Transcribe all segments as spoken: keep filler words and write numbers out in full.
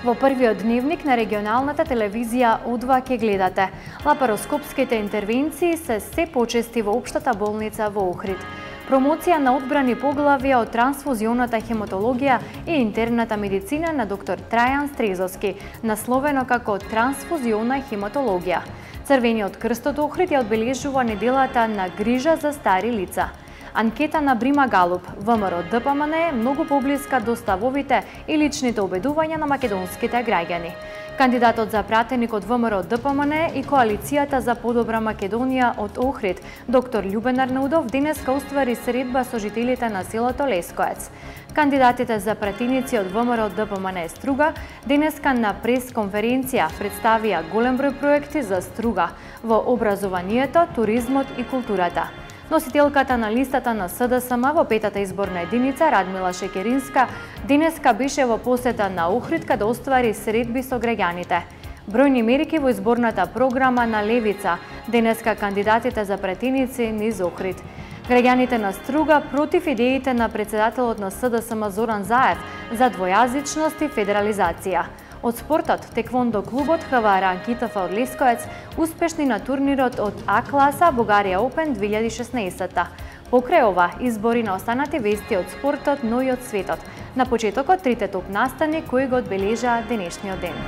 Во првиот дневник на регионалната телевизија О два ќе гледате. Лапароскопските интервенции се се почести во Општата болница во Охрид. Промоција на одбрани поглавија од трансфузионата хематологија и интерната медицина на доктор Трајан Стрезовски, насловено како трансфузиона хематологија. Црвениот крст од Охрид ја одбележува неделата на грижа за стари лица. Анкета на Брима Галуп, ВМРО Д П М Н е многу поблиска до ставовите и личните убедувања на македонските граѓани. Кандидатот за пратеник од ВМРО Д П М Н и Коалицијата за подобра Македонија од Охрид, доктор Љубен Арнаудов, денеска уствари средба со жителите на селото Лескоец. Кандидатите за пратеници од ВМРО Д П М Н Струга денеска на прес-конференција представија голем број проекти за Струга во образованието, туризмот и културата. Носителката на листата на С Д С М во петата изборна единица, Радмила Шекеринска, денеска беше во посета на Охрид каде оствари средби со граѓаните. Бројни мерки во изборната програма на Левица, денеска кандидатите за пратеници низ Охрид. Граѓаните на Струга против идеите на председателот на С Д С М Зоран Заев за двојазичност и федерализација. Од спортот, теквондо клубот Х В Р Ки Т Ф од Лескоец успешни на турнирот од А класа Бугарија Опен две илјади и шеснаесетта. Покрај ова, избори на останати вести од спортот, но и од светот. На почетокот трите топ настани кои го одбележаа денешниот ден.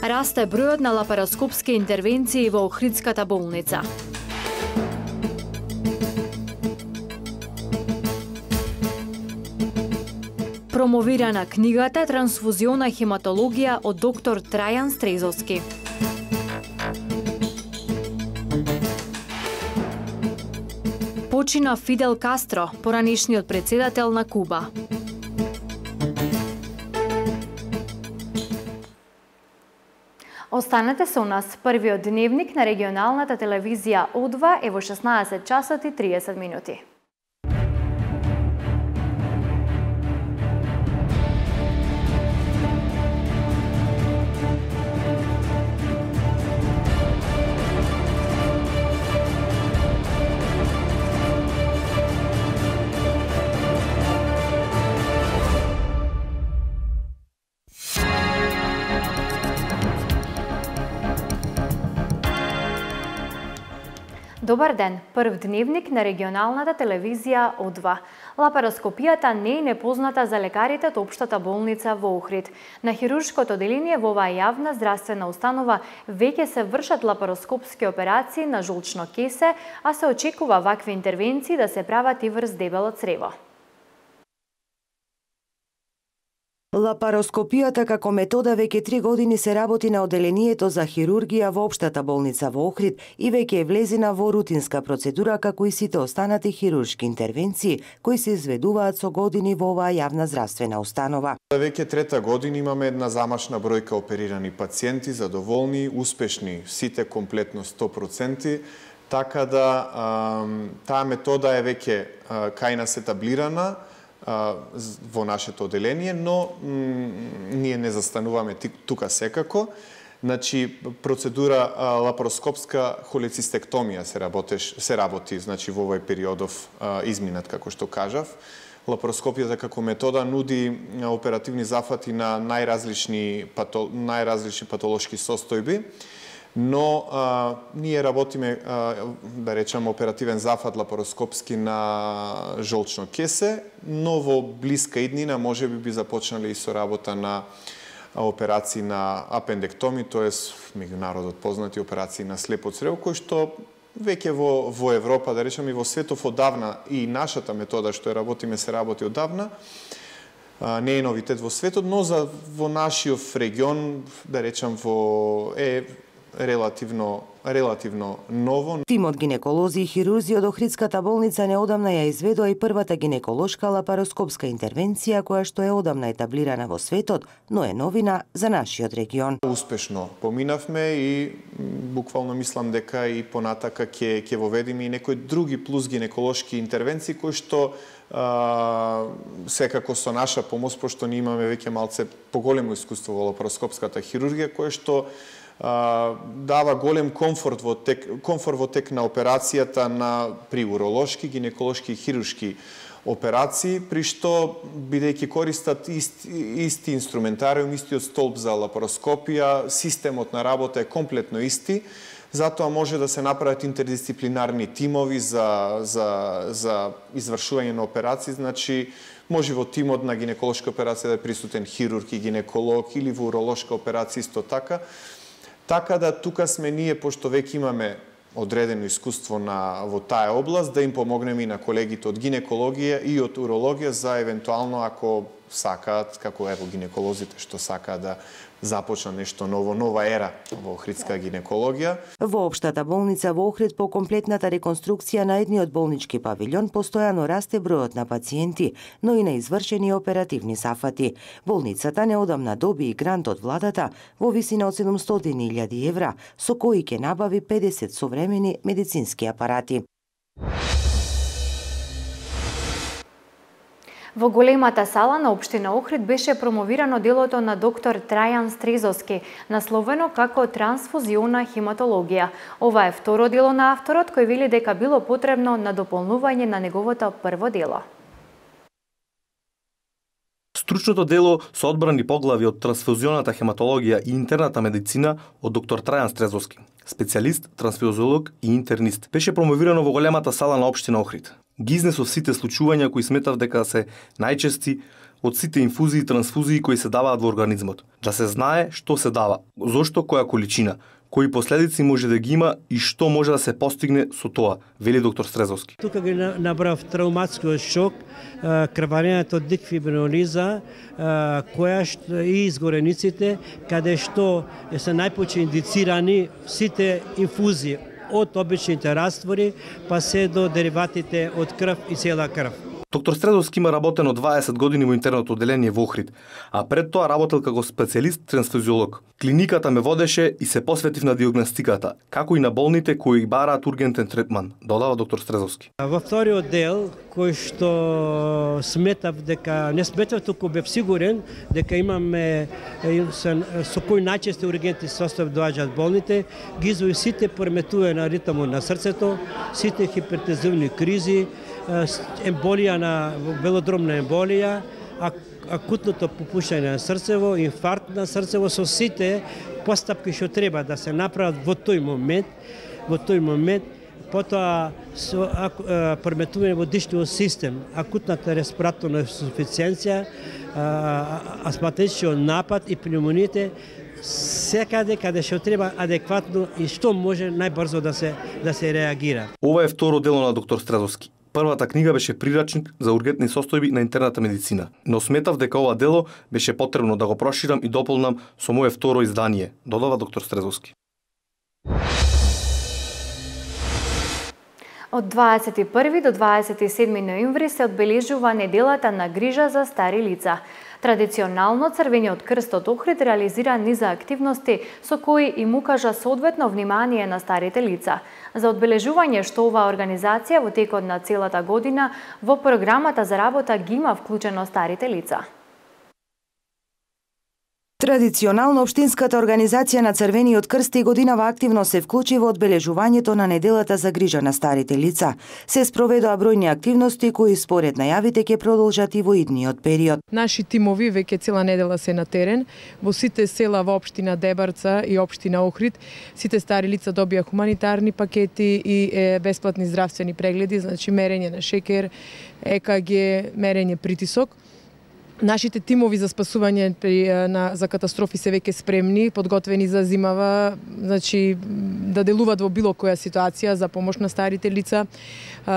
Расте бројот на лапароскопски интервенции во Охридската болница. Промовирана книгата Трансфузиона хематологија од доктор Трајан Стрезовски. Почина Фидел Кастро, поранешниот председател на Куба. Останете со нас. Првиот дневник на регионалната телевизија О два е во шеснаесет часот и триесет минути. Добар ден, прв дневник на регионалната телевизија О два. Лапароскопијата не е непозната за лекарите од Општата болница во Охрид. На хируршкото оделение во оваа јавна здравствена установа веќе се вршат лапароскопски операции на жолчно кесе, а се очекува вакви интервенции да се прават и врз дебело црево. Лапароскопијата како метода веќе три години се работи на оделението за хирургија во Општата болница во Охрид и веќе е влезена во рутинска процедура како и сите останати хируршки интервенции кои се изведуваат со години во оваа јавна здравствена установа. Веќе трета година имаме една замашна бројка оперирани пациенти, задоволни, успешни, сите комплетно сто проценти, така да а, таа метода е веќе а, кај нас етаблирана во нашето оделение, но ние не застануваме тука секако. Значи, процедура лапароскопска холецистектомија се работеш, се работи, значи во овој периодов изминат, како што кажав. Лапароскопијата како метода нуди оперативни зафати на најразлични пато, најразлични патолошки состојби, но а, ние работиме, а, да речем, оперативен зафат лапароскопски на жолчно кесе, но во блиска иднина може би би започнале и со работа на операции на апендектоми, тоест меѓународот познати операции на слепо црево, кои што веќе во, во Европа, да речем, и во светов одавна, и нашата метода што ја работиме се работи одавна, а, не е новитет во светот, но за во нашиот регион, да речем, во е релативно релативно ново. Тимот гинеколози и хирурзи од Охридската болница неодамна ја изведува и првата гинеколошка лапароскопска интервенција која што е одамна етаблирана во светот, но е новина за нашиот регион. Успешно поминавме и буквално мислам дека и понатака ќе ќе воведиме и некои други плюс гинеколошки интервенции кои што а, секако со наша помош, пошто ние имаме веќе малце поголемо искуство во лапароскопската хирургија, кое што дава голем комфорт во тек, комфорт во тек на операцијата на при уролошки, гинеколошки и хируршки операции, при што, бидејќи користат ист, исти инструментариум, истиот столб за лапароскопија, системот на работа е комплетно исти, затоа може да се направат интердисциплинарни тимови за, за, за извршување на операции, значи може во тимот на гинеколошка операција да е присутен хирург и гинеколог или во уролошка операција исто така. Така да тука сме ние, пошто веќе имаме одредено искуство на во таа област, да им помогнеме и на колегите од гинекологија и од урологија за евентуално ако сакаат, како ево гинеколозите што сакаат да започна нешто ново, нова ера во охридска гинекологија. Во општата болница во Охрид по комплетната реконструкција на едниот болнички павилјон постојано расте бројот на пациенти, но и на извршени оперативни сафати. Болницата неодамна доби и грант од владата во висина од седумстотини илјади евра, со кои ќе набави педесет современи медицински апарати. Во големата сала на општина Охрид беше промовирано делото на доктор Трајан Стрезовски, насловено како трансфузиона хематологија. Ова е второ дело на авторот кој вели дека било потребно надополнување на неговото прво дело. Стручното дело со одбрани поглави од трансфузионата хематологија и интерната медицина од доктор Трајан Стрезовски, специјалист, трансфузиолог и интернист, беше промовирано во големата сала на општина Охрид. Ги изнесов сите случувања кои сметав дека се најчести од сите инфузии и трансфузии кои се даваат во организмот. Да се знае што се дава, зошто, која количина, кои последици може да ги има и што може да се постигне со тоа, вели доктор Стрезовски. Тука ги набрав травматскиот шок, крварењето од дифибринолиза, која што и изгорениците, каде што се најпоче индицирани сите инфузии од обичните раствори, па се до дериватите од крв и цела крв. Доктор Стрезовски има работено дваесет години во интерното одделение во Охрид, а пред тоа работел како специјалист трансфузиолог. Клиниката ме водеше и се посветив на диагностиката, како и на болните кои бараат ургентен третман, додава доктор Стрезовски. Во вториот дел, кој што сметав дека, не сметав, туку бев сигурен дека имаме со кој најчести ургентни состојби доаѓаат болните, ги извои сите пореметувања на ритмот на срцето, сите хипертензивни кризи, емболија на велодромна емболија, акутното попушање на срцево, инфаркт на срцево, со сите постапки што треба да се направат во тој момент, во тој момент, потоа со пореметување во дишниот систем, акутната респираторна инсуфициенција, астматичниот напад и пневмониите, секаде каде што треба адекватно и што може најбрзо да се да се реагира. Ова е второ дело на доктор Стрезовски. Првата книга беше прирачник за ургентни состојби на интерната медицина, но сметав дека ова дело беше потребно да го проширам и дополнам со моје второ издание, додава доктор Стрезовски. Од дваесет и први до дваесет и седми ноември се одбележува неделата на грижа за стари лица. Традиционално Црвениот крст од Охрид реализира низа активности со кои им укажа соодветно внимание на старите лица. За одбележување што оваа организација во текот на целата година во програмата за работа ги има вклучено старите лица. Традиционално општинската организација на Црвениот крст и годинава активно се вклучи во одбележувањето на неделата за грижа на старите лица. Се спроведоа бројни активности кои според најавите ќе продолжат и во идниот период. Наши тимови веќе цела недела се на терен во сите села во општина Дебарца и општина Охрид. Сите стари лица добија хуманитарни пакети и е, бесплатни здравствени прегледи, значи мерење на шекер, Е К Г, мерење притисок. Нашите тимови за спасување при, на, за катастрофи се веќе спремни, подготвени за зимава, значи да делуваат во било која ситуација за помош на старите лица.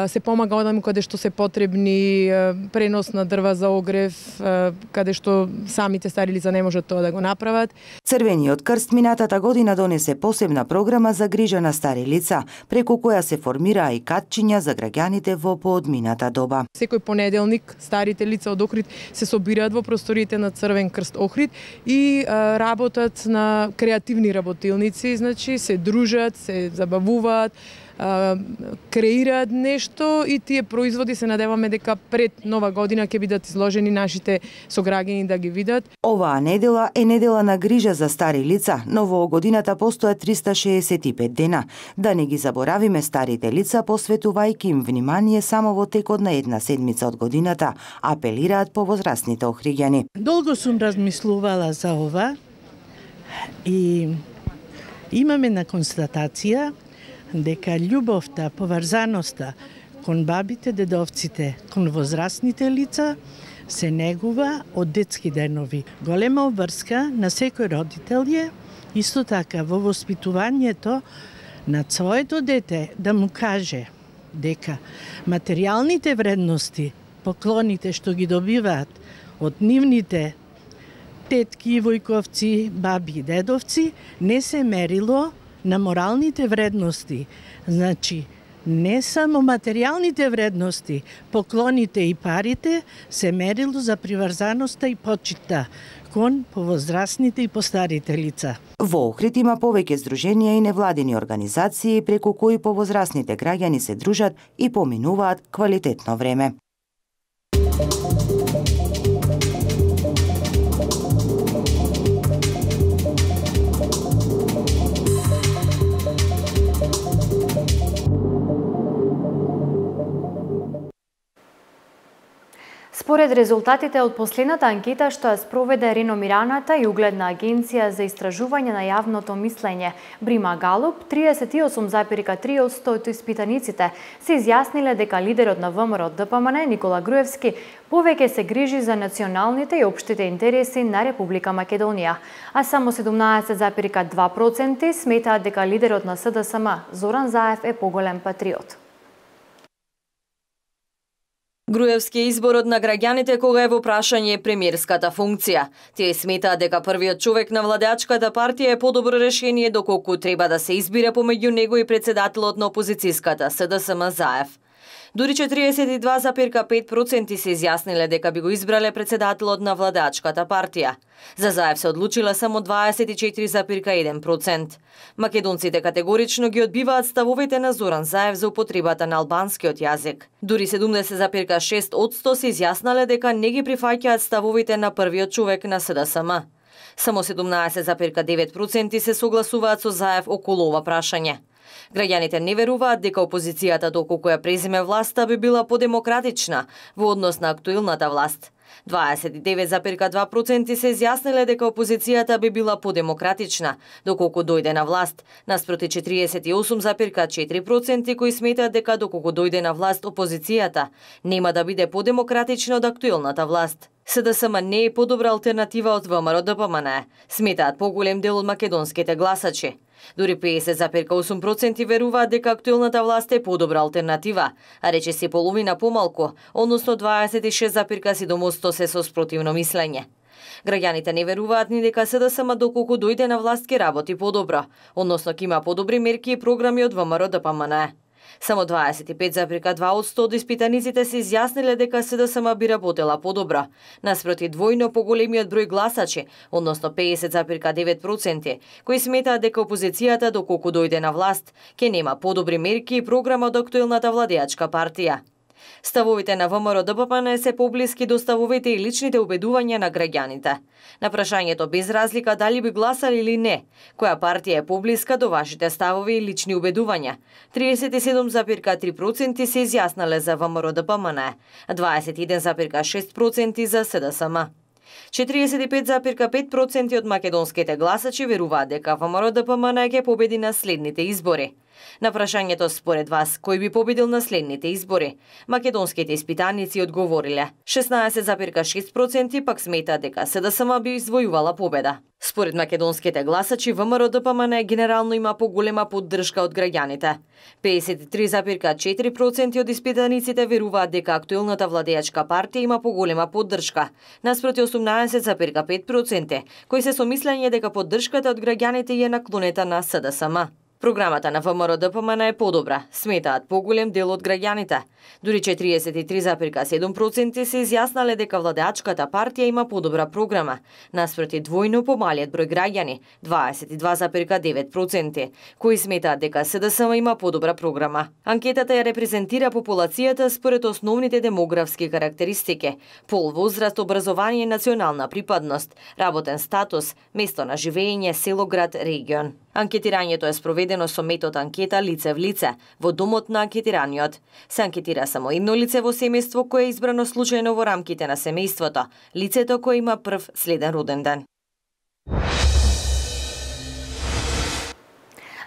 Се помага одаму каде што се потребни, пренос на дрва за огрев, каде што самите стари лица не можат тоа да го направат. Црвениот крст минатата година донесе посебна програма за грижа на стари лица, преку која се формираа и катчиња за граѓаните во поодмината доба. Секој понеделник старите лица од Охрид се собираат во просториите на Црвен крст Охрид и а, работат на креативни работилници, значи се дружат, се забавуваат, а, креираат нешто и тие производи се надеваме дека пред нова година ќе бидат изложени нашите сограѓани да ги видат. Оваа недела е недела на грижа за стари лица, но во годината постојат триста шеесет и пет дена. Да не ги заборавиме старите лица, посветувајќи им внимание само во текот на една седмица од годината, апелираат повозрасните охриѓани. Долго сум размислувала за ова и имаме на констатација дека љубовта, поврзаноста кон бабите, дедовците, кон возрастните лица се негува од детски денови. Голема обврска на секој родител е исто така во воспитувањето на своето дете да му каже дека материјалните вредности, поклоните што ги добиваат од нивните тетки, војковци, баби и дедовци не се мерило на моралните вредности. Значи, не само материјалните вредности, поклоните и парите се мерило за приврзаноста и почита кон повозрастните и постарите лица. Во Охрид има повеќе здруженија и невладини организации преку кои повозрастните граѓани се дружат и поминуваат квалитетно време. Според резултатите од последната анкета што ја спроведе реномираната и угледна агенција за истражување на јавното мислење Брима Галуп, триесет и осум зарез и три одсто од испитаниците се изјасниле дека лидерот на ВМРО Д П М Н Никола Груевски повеќе се грижи за националните и општите интереси на Република Македонија, а само седумнаесет зарез и два проценти сметаат дека лидерот на С Д С М Зоран Заев е поголем патриот. Груевски е изборот на граѓаните кога е во прашање премиерската функција. Тие сметаат дека првиот човек на владеачката партија е подобро решение доколку треба да се избира помеѓу него и председателот на опозицијската С Д С М Заев. Дури четириесет и два зарез и пет проценти се изјасниле дека би го избрале председателот на владеачката партија. За Заев се одлучила само дваесет и четири зарез и еден проценти. Македонците категорично ги одбиваат ставовите на Зоран Заев за употребата на албанскиот јазик. Дури седумдесет зарез и шест одсто се изјаснале дека не ги прифаќаат ставовите на првиот човек на С Д С М. Само седумнаесет зарез и девет проценти се согласуваат со Заев околу ова прашање. Граѓаните не веруваат дека опозицијата доколку ја преземе власта би била подемократична во однос на актуелната власт. дваесет и девет зарез и два проценти се изјасниле дека опозицијата би била подемократична доколку дојде на власт, наспроти четириесет и осум зарез и четири проценти кои сметаат дека доколку дојде на власт опозицијата нема да биде подемократична од актуелната власт. С Д С М не е подобра алтернатива од В М R Д П М Н, сметаат поголем дел од македонските гласачи. Дури педесет зарез и осум проценти веруваат дека актуелната власт е подобра алтернатива, а речиси половина помалку, односно дваесет и шест зарез и седум одсто се со спротивно мислење. Граѓаните не веруваат ни дека С Д С М доколку дојде на власт ќе работи подобро, односно ќе има подобри мерки и програми од В М R Д П М Н. Само дваесет и пет зарез и два одсто од испитаниците се изјасниле дека С Д С М би работела подобро, наспроти двојно поголемиот број гласачи, односно педесет зарез и девет проценти, кои сметаат дека опозицијата доколку дојде на власт ќе нема подобри мерки и програма од актуелната владеачка партија. Ставовите на В М R Д П М Н се поблиски до ставовите и личните убедувања на граѓаните. На прашањето без разлика дали би гласали или не, која партија е поблиска до вашите ставови и лични убедувања, триесет и седум зарез и три проценти се изјаснале за В М R Д П М Н, а дваесет и еден зарез и шест проценти за С Д С М. четириесет и пет зарез и пет проценти од македонските гласачи веруваат дека В М R Д П М Н ќе победи на следните избори. На прашањето според вас кој би победил на следните избори, македонските испитаници одговориле. шеснаесет зарез и шест проценти пак сметаат дека С Д С М би извојувала победа. Според македонските гласачи В М R Д П М Н генерално има поголема поддршка од граѓаните. педесет и три зарез и четири проценти од испитаниците веруваат дека актуелната владеачка партија има поголема поддршка, наспроти осумнаесет зарез и пет проценти, кои се со мислење дека поддршката од граѓаните е наклонета на С Д С М. Програмата на ВМРО Д П М Н е подобра, сметаат поголем дел од граѓаните. Дури четириесет и три зарез и седум проценти се изјаснале дека владеачката партија има подобра програма, наспроти двојно помалиот број граѓани, дваесет и два зарез и девет проценти, кои сметаат дека С Д С М има подобра програма. Анкетата ја репрезентира популацијата според основните демографски карактеристики: пол, возраст, образование, национална припадност, работен статус, место на живење, село, град, регион. Анкетирањето е спроведено со метод анкета лице в лице, во домот на анкетираниот. Се анкетира само едно лице во семејство кое е избрано случајно во рамките на семејството, лицето кое има прв следен роден ден.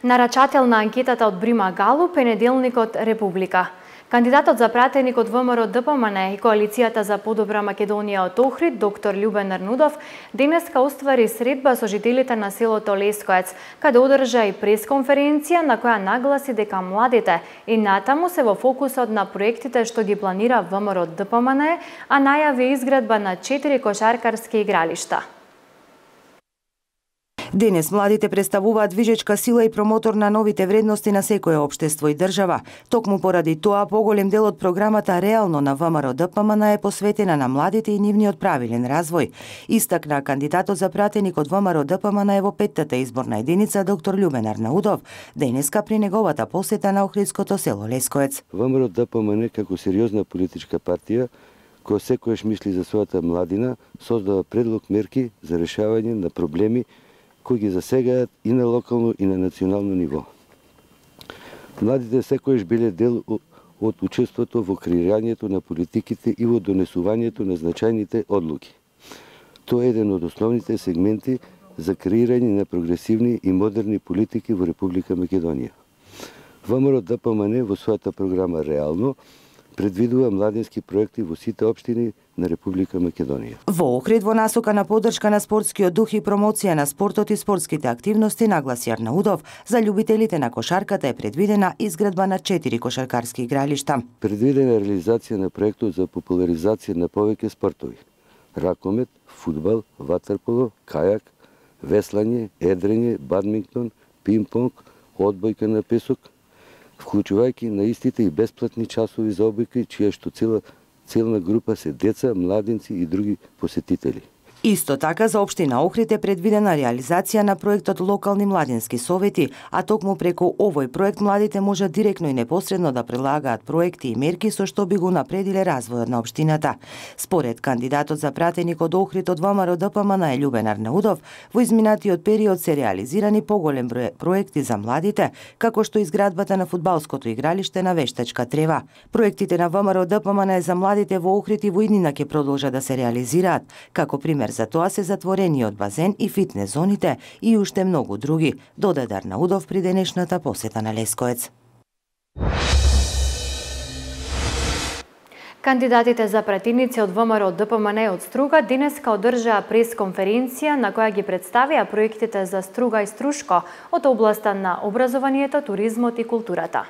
Нарачател на анкетата од Брима Галуп е неделникот Република. Кандидатот за пратеник од ВМРО Д П М Н и Коалицијата за подобра Македонија од Охрид, доктор Љубен Арнудов, денеска оствари средба со жителите на селото Лескоец, каде одржа и пресконференција на која нагласи дека младите и натаму се во фокусот на проектите што ги планира ВМРО Д П М Н, а најави изградба на четири кошаркарски игралишта. Денес младите представуваат движечка сила и промотор на новите вредности на секое општество и држава. Токму поради тоа, поголем дел од програмата реално на ВМРО Д П М Н е посветена на младите и нивниот правилен развој. Истакна кандидатот за пратеник од ВМРО Д П М Н во петтата изборна единица доктор Љубен Арнаудов, денеска при неговата посета на охридското село Лескоец. ВМРО Д П М Н како сериозна политичка партија која секојаш мисли за својата младина, создава предлог мерки за решавање на проблеми кои ги засегаат и на локално и на национално ниво. Младите секојаш биле дел од учеството во креирањето на политиките и во донесувањето на значајните одлуки. Тоа е еден од основните сегменти за креирање на прогресивни и модерни политики во Република Македонија. ВМРО Д П М Н во својата програма реално предвидува младински проекти во сите општини на Република Македонија. Во Охрид, во насока на поддршка на спортскиот дух и промоција на спортот и спортските активности, нагласи Арнаудов, за љубителите на кошарката е предвидена изградба на четири кошаркарски игралишта. Предвидена реализација на проектот за популаризација на повеќе спортови: ракомет, фудбал, ватерполо, кајак, веслање, едрење, бадминтон, пинг-понг, одбојка на песок, вклучувајќи на истите и бесплатни часови за обука, чија што цела целна група се деца, младинци и други посетители. Исто така за општина Охрид е предвидена реализација на проектот Локални младински совети, а токму преку овој проект младите можат директно и непосредно да прилагаат проекти и мерки со што би го напредиле развојот на општината. Според кандидатот за пратеник од Охрид од ВМРО Д П М Н Љубен Арнаудов, во изминатиот период се реализирани поголем број проекти за младите, како што изградбата на фудбалското игралиште на Вештачка трева. Проектите на ВМРО Д П М Н за младите во Охрид и во иднина ќе продолжат да се реализираат, како пример за тоа се затворениот базен и фитнес зоните и уште многу други, додаде Арнаудов при денешната посета на Лескоец. Кандидатите за пратеници од ВМРО Д П М Н од Струга денеска одржаа пресконференција на која ги представија проектите за Струга и Струшко од областа на образованието, туризмот и културата.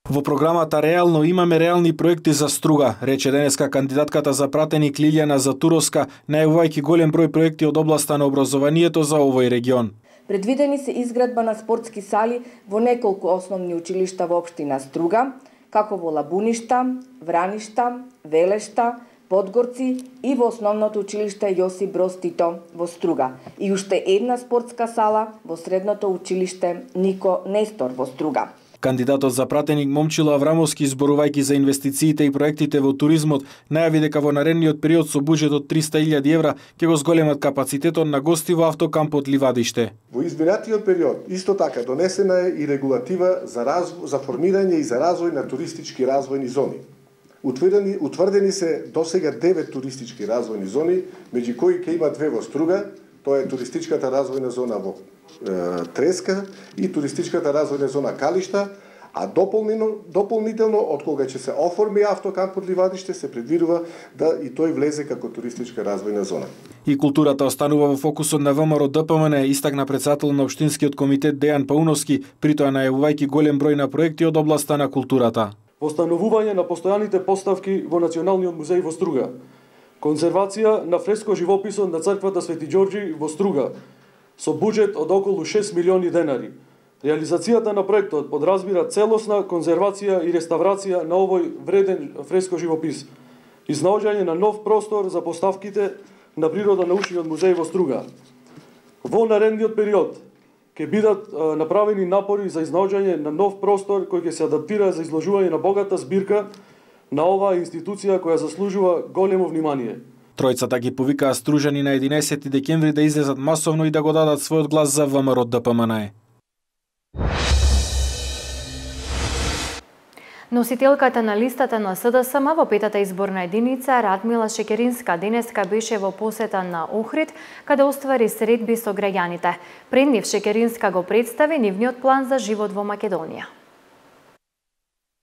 Во програмата реално имаме реални проекти за Струга, рече денеска кандидатката за пратеник Лилијана Затуровска, најавувајќи голем број проекти од областа на образованието за овој регион. Предвидени се изградба на спортски сали во неколку основни училишта во општина Струга, како во Лабуништа, Враништа, Велешта, Подгорци и во основното училиште Јосип Броз Тито во Струга. И уште една спортска сала во средното училиште Нико Нестор во Струга. Кандидатот за пратеник Момчило Аврамовски, зборувајќи за инвестициите и проектите во туризмот, најави дека во наредниот период со буџет од триста илјади евра ќе го зголемат капацитетот на гости во автокампот Ливадиште. Во изминатиот период исто така донесена е и регулатива за разво, за формирање и за развој на туристички развојни зони. Утврдени, утврдени се досега девет туристички развојни зони, меѓу кои ќе има две во Струга, тоа е туристичката развојна зона во е, Треска и туристичката развојна зона Калишта, а дополнено, дополнително од кога ќе се оформи автокампот Ливадиште се предвидува да и тој влезе како туристичка развојна зона. И културата останува во фокусот на ВМРО Д П М Н, истакна председател на општинскиот комитет Дејан Пауновски, притоа најавувајќи голем број на проекти од областа на културата. Постановување на постојаните поставки во Националниот музеј во Струга, конзервација на фреско живописот на црквата Свети Ѓорѓи во Струга, со буџет од околу шест милиони денари. Реализацијата на проектот подразбира целосна конзервација и реставрација на овој вреден фреско живопис, изнаоѓање на нов простор за поставките на Природо-научниот музеј во Струга. Во наредниот период ќе бидат а, направени напори за изнаоѓање на нов простор кој ќе се адаптира за изложување на богата збирка на оваа институција која заслужува големо внимание. Тројцата ги повикаа стружани на единаесети декември да излезат масовно и да го дадат својот глас за ВМРО Д П М Н Е. Носителката на листата на С Д С М во петата изборна единица Радмила Шекеринска денеска беше во посета на Охрид, каде оствари средби со граѓаните. Пред нив Шекеринска го представи нивниот план за живот во Македонија.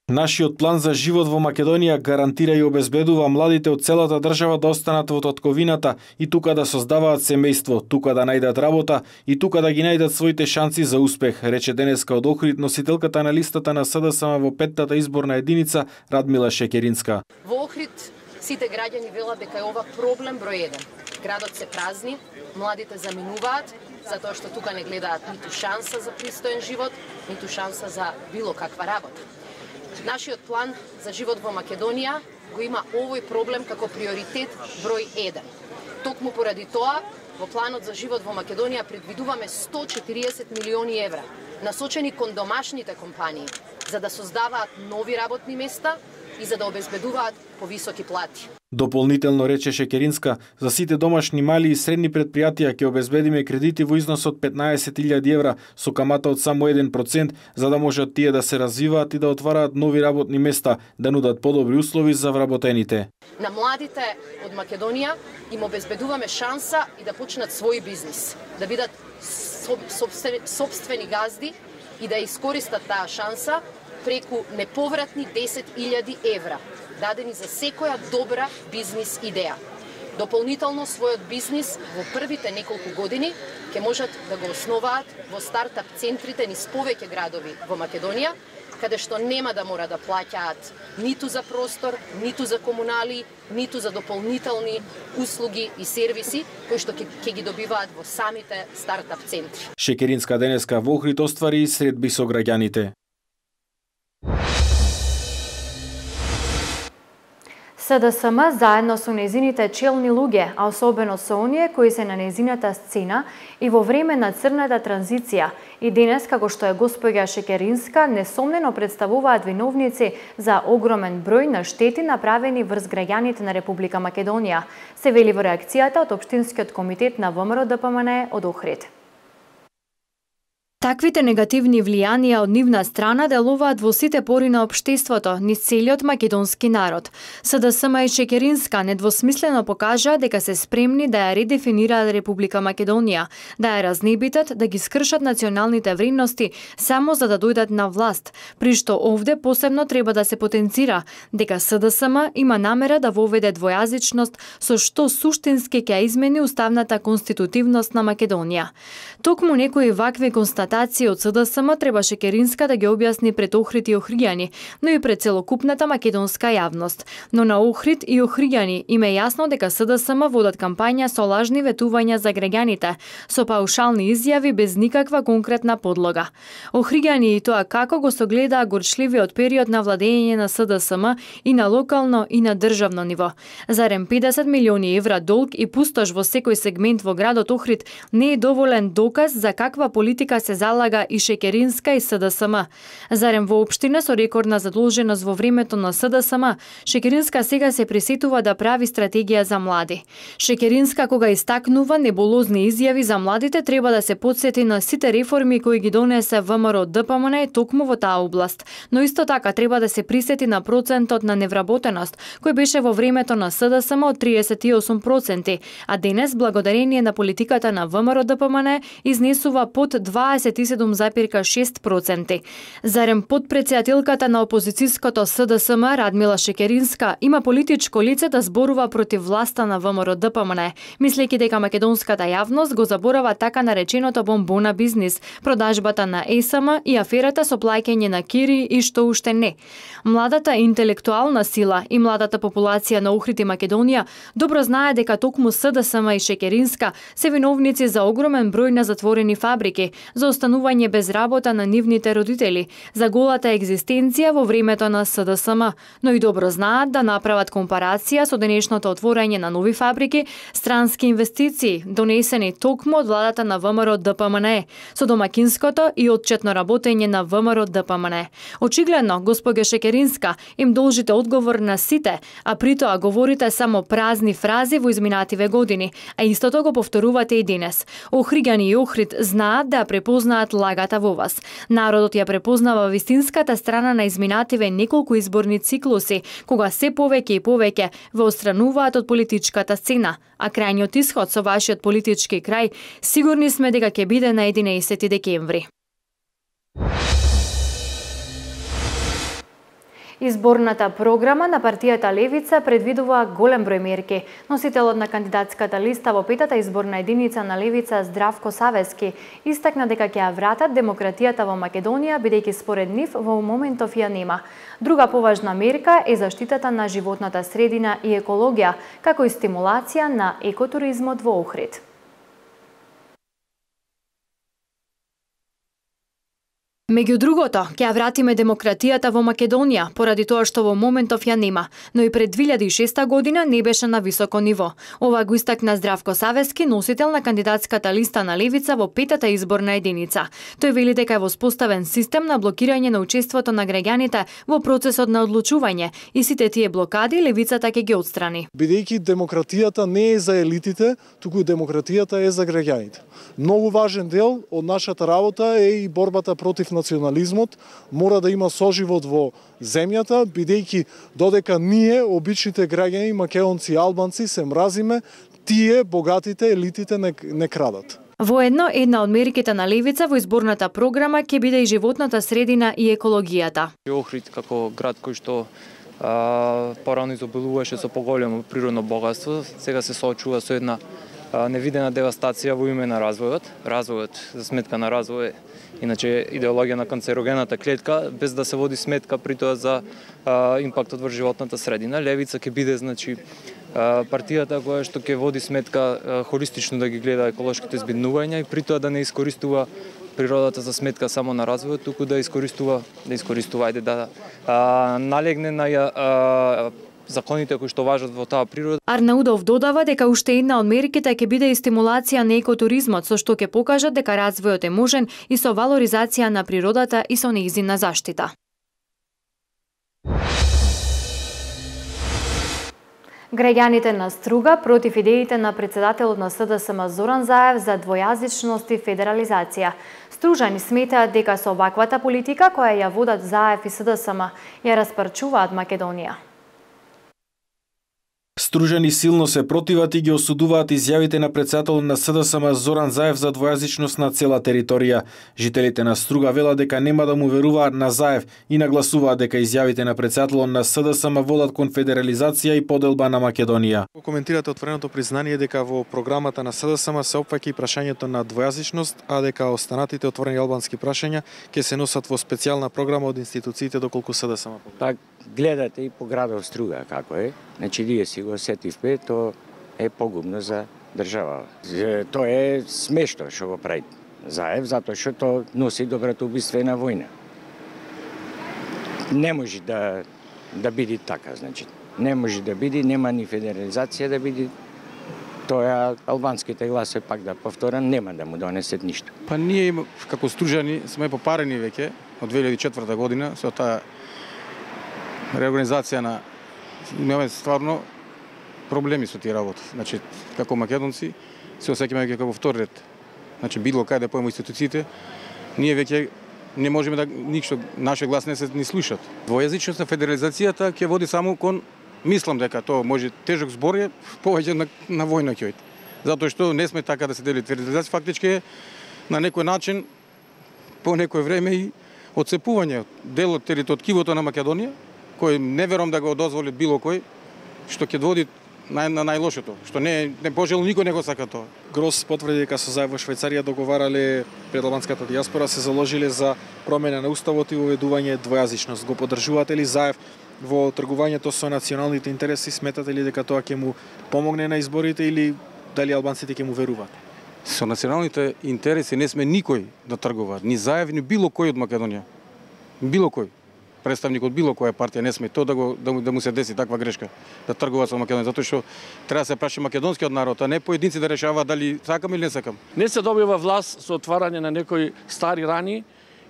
Нашиот план за живот во Македонија гарантира и обезбедува младите од целата држава да останат во татковината и тука да создаваат семејство, тука да најдат работа и тука да ги најдат своите шанси за успех, рече денеска од Охрид носителката на листата на С Д С М во петтата изборна единица Радмила Шекеринска. Во Охрид сите граѓани велат дека е ова проблем број еден. Градот се празни, младите заминуваат, затоа што тука не гледаат ниту шанса за пристоен живот, ниту шанса за било каква работа. Нашиот план за живот во Македонија го има овој проблем како приоритет број еден. Токму поради тоа, во планот за живот во Македонија предвидуваме сто и четириесет милиони евра, насочени кон домашните компании, за да создаваат нови работни места и за да обезбедуваат повисоки плати. Дополнително рече Шекеринска, за сите домашни мали и средни предпријатија ќе обезбедиме кредити во износ од петнаесет илјади евра со камата од само еден процент, за да можат тие да се развиваат и да отвараат нови работни места, да нудат подобри услови за вработените. На младите од Македонија им обезбедуваме шанса и да почнат свој бизнис, да бидат сопствени газди и да искористат таа шанса преку неповратни десет илјади евра, дадени за секоја добра бизнис идеја. Дополнително својот бизнис во првите неколку години ќе можат да го основаат во стартап центрите низ повеќе градови во Македонија, каде што нема да мора да плаќаат ниту за простор, ниту за комунали, ниту за дополнителни услуги и сервиси кои што ќе ги добиваат во самите стартап центри. Шекеринска денеска во Охрид оствари средби со граѓаните. С Д С М заедно со незините челни луѓе, а особено со оние кои се на незината сцена и во време на црната транзиција, и денес, како што е госпоѓа Шекеринска, несомнено представуваат виновници за огромен број на штети направени врз граѓаните на Република Македонија, се вели во реакцијата од Општинскиот комитет на ВМРО Д П М Н Е од Охрид. Таквите негативни влијанија од нивна страна делуваат во сите пори на општеството, низ целиот македонски народ. С Д С М и Шекеринска недвосмислено покажаа дека се спремни да ја редефинираат Република Македонија, да ја разнебитат, да ги скршат националните вредности само за да дојдат на власт, при што овде посебно треба да се потенцира дека С Д С М има намера да воведе двојазичност со што суштински ќе измени уставната конститутивност на Македонија. Токму некои вакви констатации од С Д С М треба Шекеринска да ги објасни пред Охрид и охриѓани, но и пред целокупната македонска јавност. Но на Охрид и охриѓани им е јасно дека С Д С М водат кампања со лажни ветувања за граѓаните, со паушални изјави без никаква конкретна подлога. Охриѓани и тоа како го согледаа горчливиот период на владење на С Д С М и на локално и на државно ниво. Зарем педесет милиони евра долг и пустош во секој сегмент во градот Охрид не е доволен доказ за каква политика се залага и Шекеринска и С Д С М. Зарем во општина со рекордна задолженост во времето на С Д С М, Шекеринска сега се присетува да прави стратегија за млади. Шекеринска кога истакнува небулозни изјави за младите треба да се потсети на сите реформи кои ги донесе ВМРО Д П М Н Е токму во таа област, но исто така треба да се присети на процентот на невработеност кој беше во времето на С Д С М од триесет и осум проценти, а денес благодарение на политиката на ВМРО Д П М Н Е изнесува под дваесет триесет и седум запирка шест проценти. Зарем подпредседателката на опозицијското С Д С М Радмила Шекеринска има политичко лице да зборува против власта на В М Р Д П М Н, мислејќи дека македонската јавност го заборава така нареченото бомбона бизнис, продажбата на Е С М и аферата со плаќање на кири и што уште не. Младата интелектуална сила и младата популација на Охрид и Македонија добро знае дека токму С Д С М и Шекеринска се виновници за огромен број на затворени фабрики, за останување без работа на нивните родители, за голата екзистенција во времето на С Д С М, но и добро знаат да направат компарација со денешното отворање на нови фабрики, странски инвестиции, донесени токму од владата на В М Р Д П М Н, со домакинското и отчетно работење на В М Р Д П М Н. Очигледно, госпога Шекеринска, им должите одговор на сите, а при тоа говорите само празни фрази во изминативе години, а истото го повторувате и денес. Охриѓани и Охрид знаат да препознаат лагата во вас. Народот ја препознава вистинската страна на изминативе неколку изборни циклуси, кога се повеќе и повеќе ве отстрануваат од политичката сцена, а крајниот исход со вашиот политички крај сигурни сме дека ќе биде на единаесети декември. Изборната програма на партијата Левица предвидува голем број мерки. Носителот на кандидатската листа во петата изборна единица на Левица Здравко Савески истакна дека ќе ја вратат демократијата во Македонија, бидејќи според нив во моментов ја нема. Друга поважна мерка е заштитата на животната средина и екологија, како и стимулација на екотуризмот во Охрид. Меѓу другото, ќе ја вратиме демократијата во Македонија, поради тоа што во моментов ја нема, но и пред две илјади и шеста година не беше на високо ниво. Ова го истакна Здравко Савески, носител на кандидатската листа на Левица во петата изборна единица. Тој вели дека е воспоставен систем на блокирање на учеството на граѓаните во процесот на одлучување и сите тие блокади Левицата ќе ги отстрани. Бидејќи демократијата не е за елитите, туку демократијата е за граѓаните. Многу важен дел од нашата работа е и борбата против национализмот. Мора да има соживот во земјата, бидејќи додека ние, обичните граѓани, македонци и албанци, се мразиме, тие, богатите, елитите не, не крадат. Воедно, една од мерките на Левица во изборната програма ќе биде и животната средина и екологијата. Охрид како град кој што а, порано изобилуваше со поголемо природно богатство, сега се соочува со една невидена девастација во име на развојот. Развојот за сметка на развој, иначе идеологија на канцерогената клетка, без да се води сметка при тоа за а, импактот во животната средина. Левица ќе биде, значи, а, партијата која што ќе води сметка а, холистично да ги гледа еколошките збиднувања и при тоа да не искористува природата за сметка само на развојот, туку да искористува, да искористува, ајде да а, налегне на а, законите кои што важат во таа природа. Арнаудов додава дека уште една од мерките ќе биде и стимулација на екотуризмот, со што ќе покажат дека развојот е можен и со валоризација на природата и со нејзина заштита. Граѓаните на Струга против идеите на председателот на С Д С М Зоран Заев за двојазичност и федерализација. Стружани сметаат дека со оваквата политика која ја водат Заев и С Д С М ја распарчуваат Македонија. Стружани силно се противат и ги осудуваат изјавите на председателот на С Д С М Зоран Заев за двојазичност на цела територија. Жителите на Струга велат дека нема да му веруваат на Заев и нагласуваат дека изјавите на председателот на С Д С М водат кон федерализација и поделба на Македонија. Коментирате отвореното признание дека во програмата на С Д С М се опфаќа и прашањето на двојазичност, а дека останатите отворени албански прашања ќе се носат во специјална програма од институциите доколку С Д С М. Пак гледате и по градот Струга како е. Значи, ние си го сетивме, то е погубно за држава. Тоа е смешно што го прави Заев, затоа што тоа носи добратоубиствена војна. Не може да да биде така, значи. Не може да биде, нема ни федерализација да биде. Тоа албанските гласови, пак да повторам, нема да му донесет ништо. Па ние како стружани сме попарени веќе од две илјади и четврта година со таа реорганизација на имаме стварно проблеми со тие работи. Значи, како македонци се осеќаме веќе како втор ред. Значи, било кај да појме институциите, ние веќе не можеме да ништо, нашиот глас не се ни слушат. Двојазичност на федерализацијата ќе води само кон, мислам дека тоа може тежок збор е повеќе на, на војна ќе оди. Затоа што не сме така да се дели федерализација, фактички е на некој начин по некој време и отцепување дел од територијата на Македонија, кој не верувам да го дозволи било кој, што ќе води нај, на најлошото, што не не пожело никој не го сака тоа. Грос потврди дека со заев во Швајцарија договарале пред албанската дијаспора, се заложиле за промена на уставот и уведување двојазичност. Го поддржувате ли заев во тргувањето со националните интереси? Сметате ли дека тоа ќе му помогне на изборите или дали албанците ќе му веруваат? Со националните интереси не сме никој да тргуваат, ни заев, ни било кој од Македонија. Било кој. Представник од било која партија не сме, тоа да, го, да, му, да му се деси таква грешка, да тргуваат со Македонија, затоа што треба да се праши македонскиот народ, а не поединци да решаваат дали сакам или не сакам. Не се добива власт со отварање на некои стари рани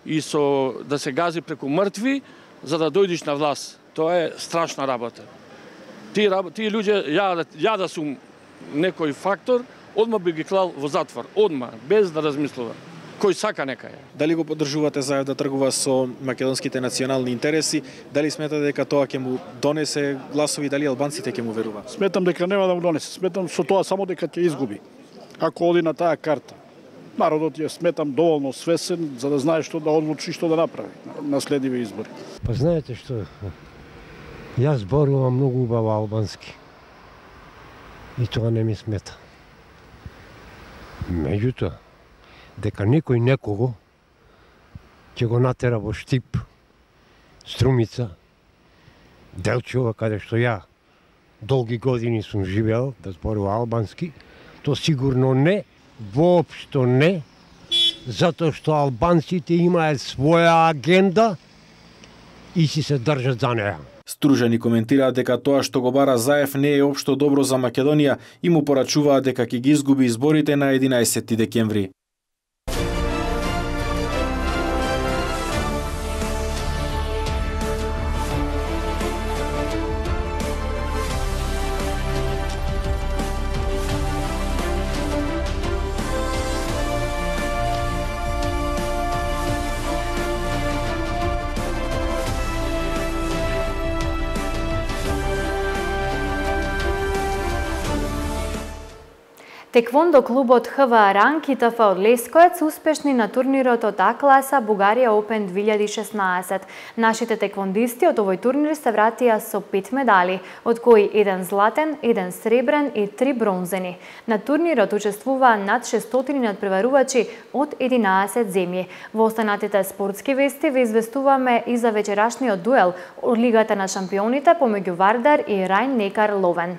и со да се гази преку мртви за да дојдеш на власт. Тоа е страшна работа. Тие ти луѓе, ја, ја да сум некој фактор, одма би ги клал во затвор, одма, без да размислува. Кој сака нека е. Дали го поддржувате заев да тргува со македонските национални интереси? Дали сметате дека тоа ќе му донесе гласови, дали албанците ќе му веруваат? Сметам дека нема да му донесе. Сметам со тоа само дека ќе изгуби. Ако оди на таа карта. Народот ја сметам доволно свесен за да знае што да одлучи, што да направи на следиви избори. Па знаете што? Јас зборувам многу убаво албански. И тоа не ми смета. Меѓутоа, дека некој некого ќе го натера во Штип, Струмица, Делчева, каде што ја долги години сум живеал да зборува албански, то сигурно не, воопшто не, затоа што албанците имаат своја агенда и си се држат за неа. Стружани коментираат дека тоа што го бара заев не е општо добро за Македонија и му порачуваат дека ќе ги изгуби изборите на единаесетти декември. Теквондо клубот Х В Ранг и Т Ф од Лесковец успешни на турнирот од А класа Бугарија Опен две илјади и шеснаесет. Нашите теквондисти од овој турнир се вратија со пет медали, од кои еден златен, еден сребрен и три бронзени. На турнирот учествуваа над шестстотини надпреварувачи од единаесет земји. Во останатите спортски вести ве известуваме и за вечерашниот дуел од Лигата на шампионите помеѓу Вардар и Рајн-Некар Ловен.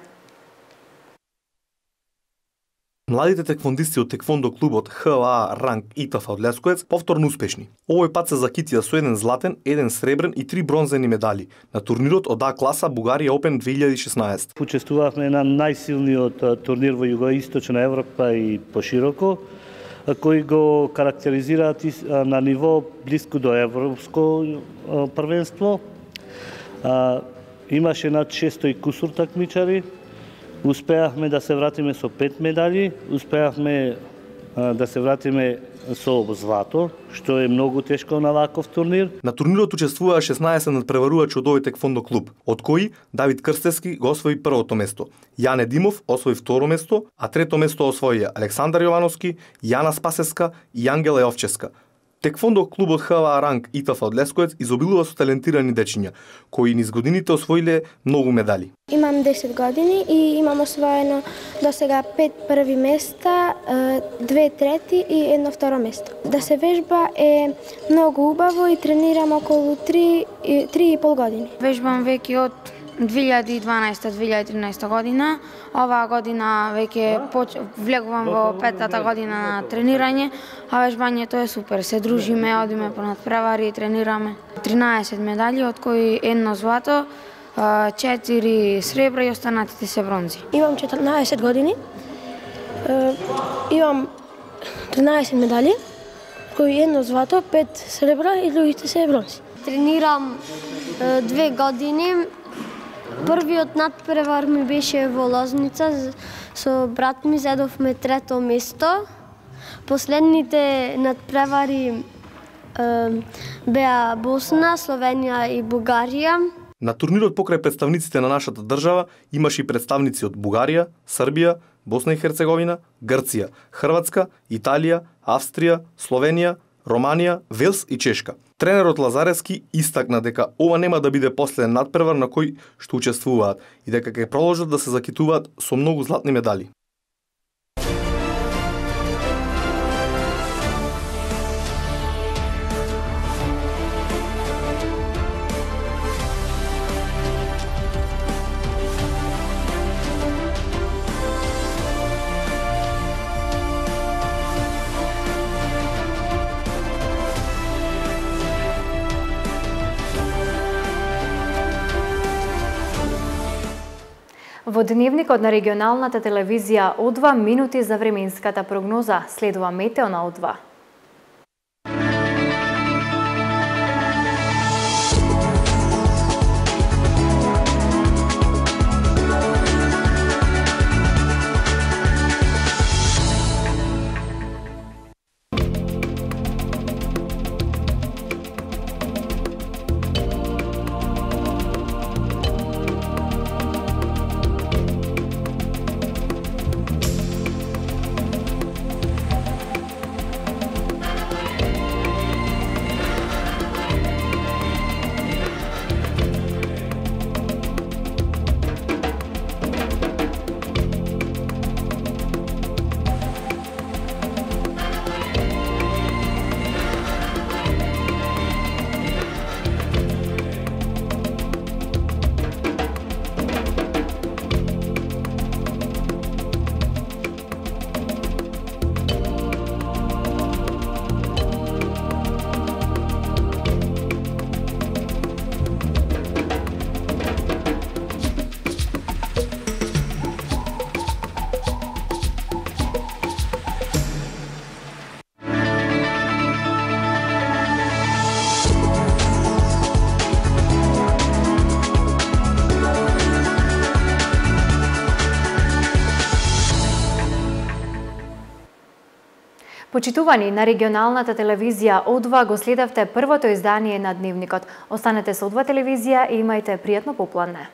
Младите теквондисти од теквондо клубот Х В А Ранг и Т Ф од Лесковец повторно успешни. Овој пат се закитија со еден златен, еден сребрен и три бронзени медали на турнирот од А класа Бугарија Опен две илјади и шеснаесет. Учествувавме на најсилниот турнир во југоисточна Европа и пошироко, кои го карактеризираат на ниво блиско до европско првенство. Имаше над шестоста и кусур такмичари. Успеавме да се вратиме со пет медали, успеавме да се вратиме со злато, што е многу тешко на ваков турнир. На турнирот учествуваа шеснаесет надпреварувачи од овој теквондо клуб, од кои Давид Крстевски го освои првото место, Јане Димов освои второ место, а трето место освоија Александар Јовановски, Јана Спасеска и Ангела Јовческа. Теквондо клубот Х В А Ранг и Т Ф од Лесковец изобилува со талентирани дечиња, кои низ годините освоиле многу медали. Имам десет години и имам освоено до сега пет први места, две трети и едно второ место. Да се вежба е многу убаво и тренирам околу три и пол години. Вежбам веќе од две илјади и дванаесета - две илјади и тринаесета година. Оваа година веќе поч... влегувам во петата година на тренирање, а вежбањето е супер. Се дружиме, одиме по надпревари и тренираме. тринаесет медали, од кои едно злато, четири сребра и останатите се бронзи. Имам четрнаесет години. Имам тринаесет медали, кои едно злато, пет сребра и другите се бронзи. Тренирам две години. Првиот надпревар ми беше во Лозница, со брат ми зедовме трето место. Последните надпревари е, беа Босна, Словенија и Бугарија. На турнирот покрај представниците на нашата држава имаше и представници од Бугарија, Србија, Босна и Херцеговина, Грција, Хрватска, Италија, Австрија, Словенија, Романија, Велс и Чешка. Тренерот Лазаревски истакна дека ова нема да биде последен надпревар на кој што учествуваат и дека ќе продолжат да се закитуваат со многу златни медали. Во дневникот на регионалната телевизија О два минути за временската прогноза, следува метео на О два. Почитувани, на регионалната телевизија О два го следавте првото издание на Дневникот. Останете со О два телевизија и имајте пријатно попладне.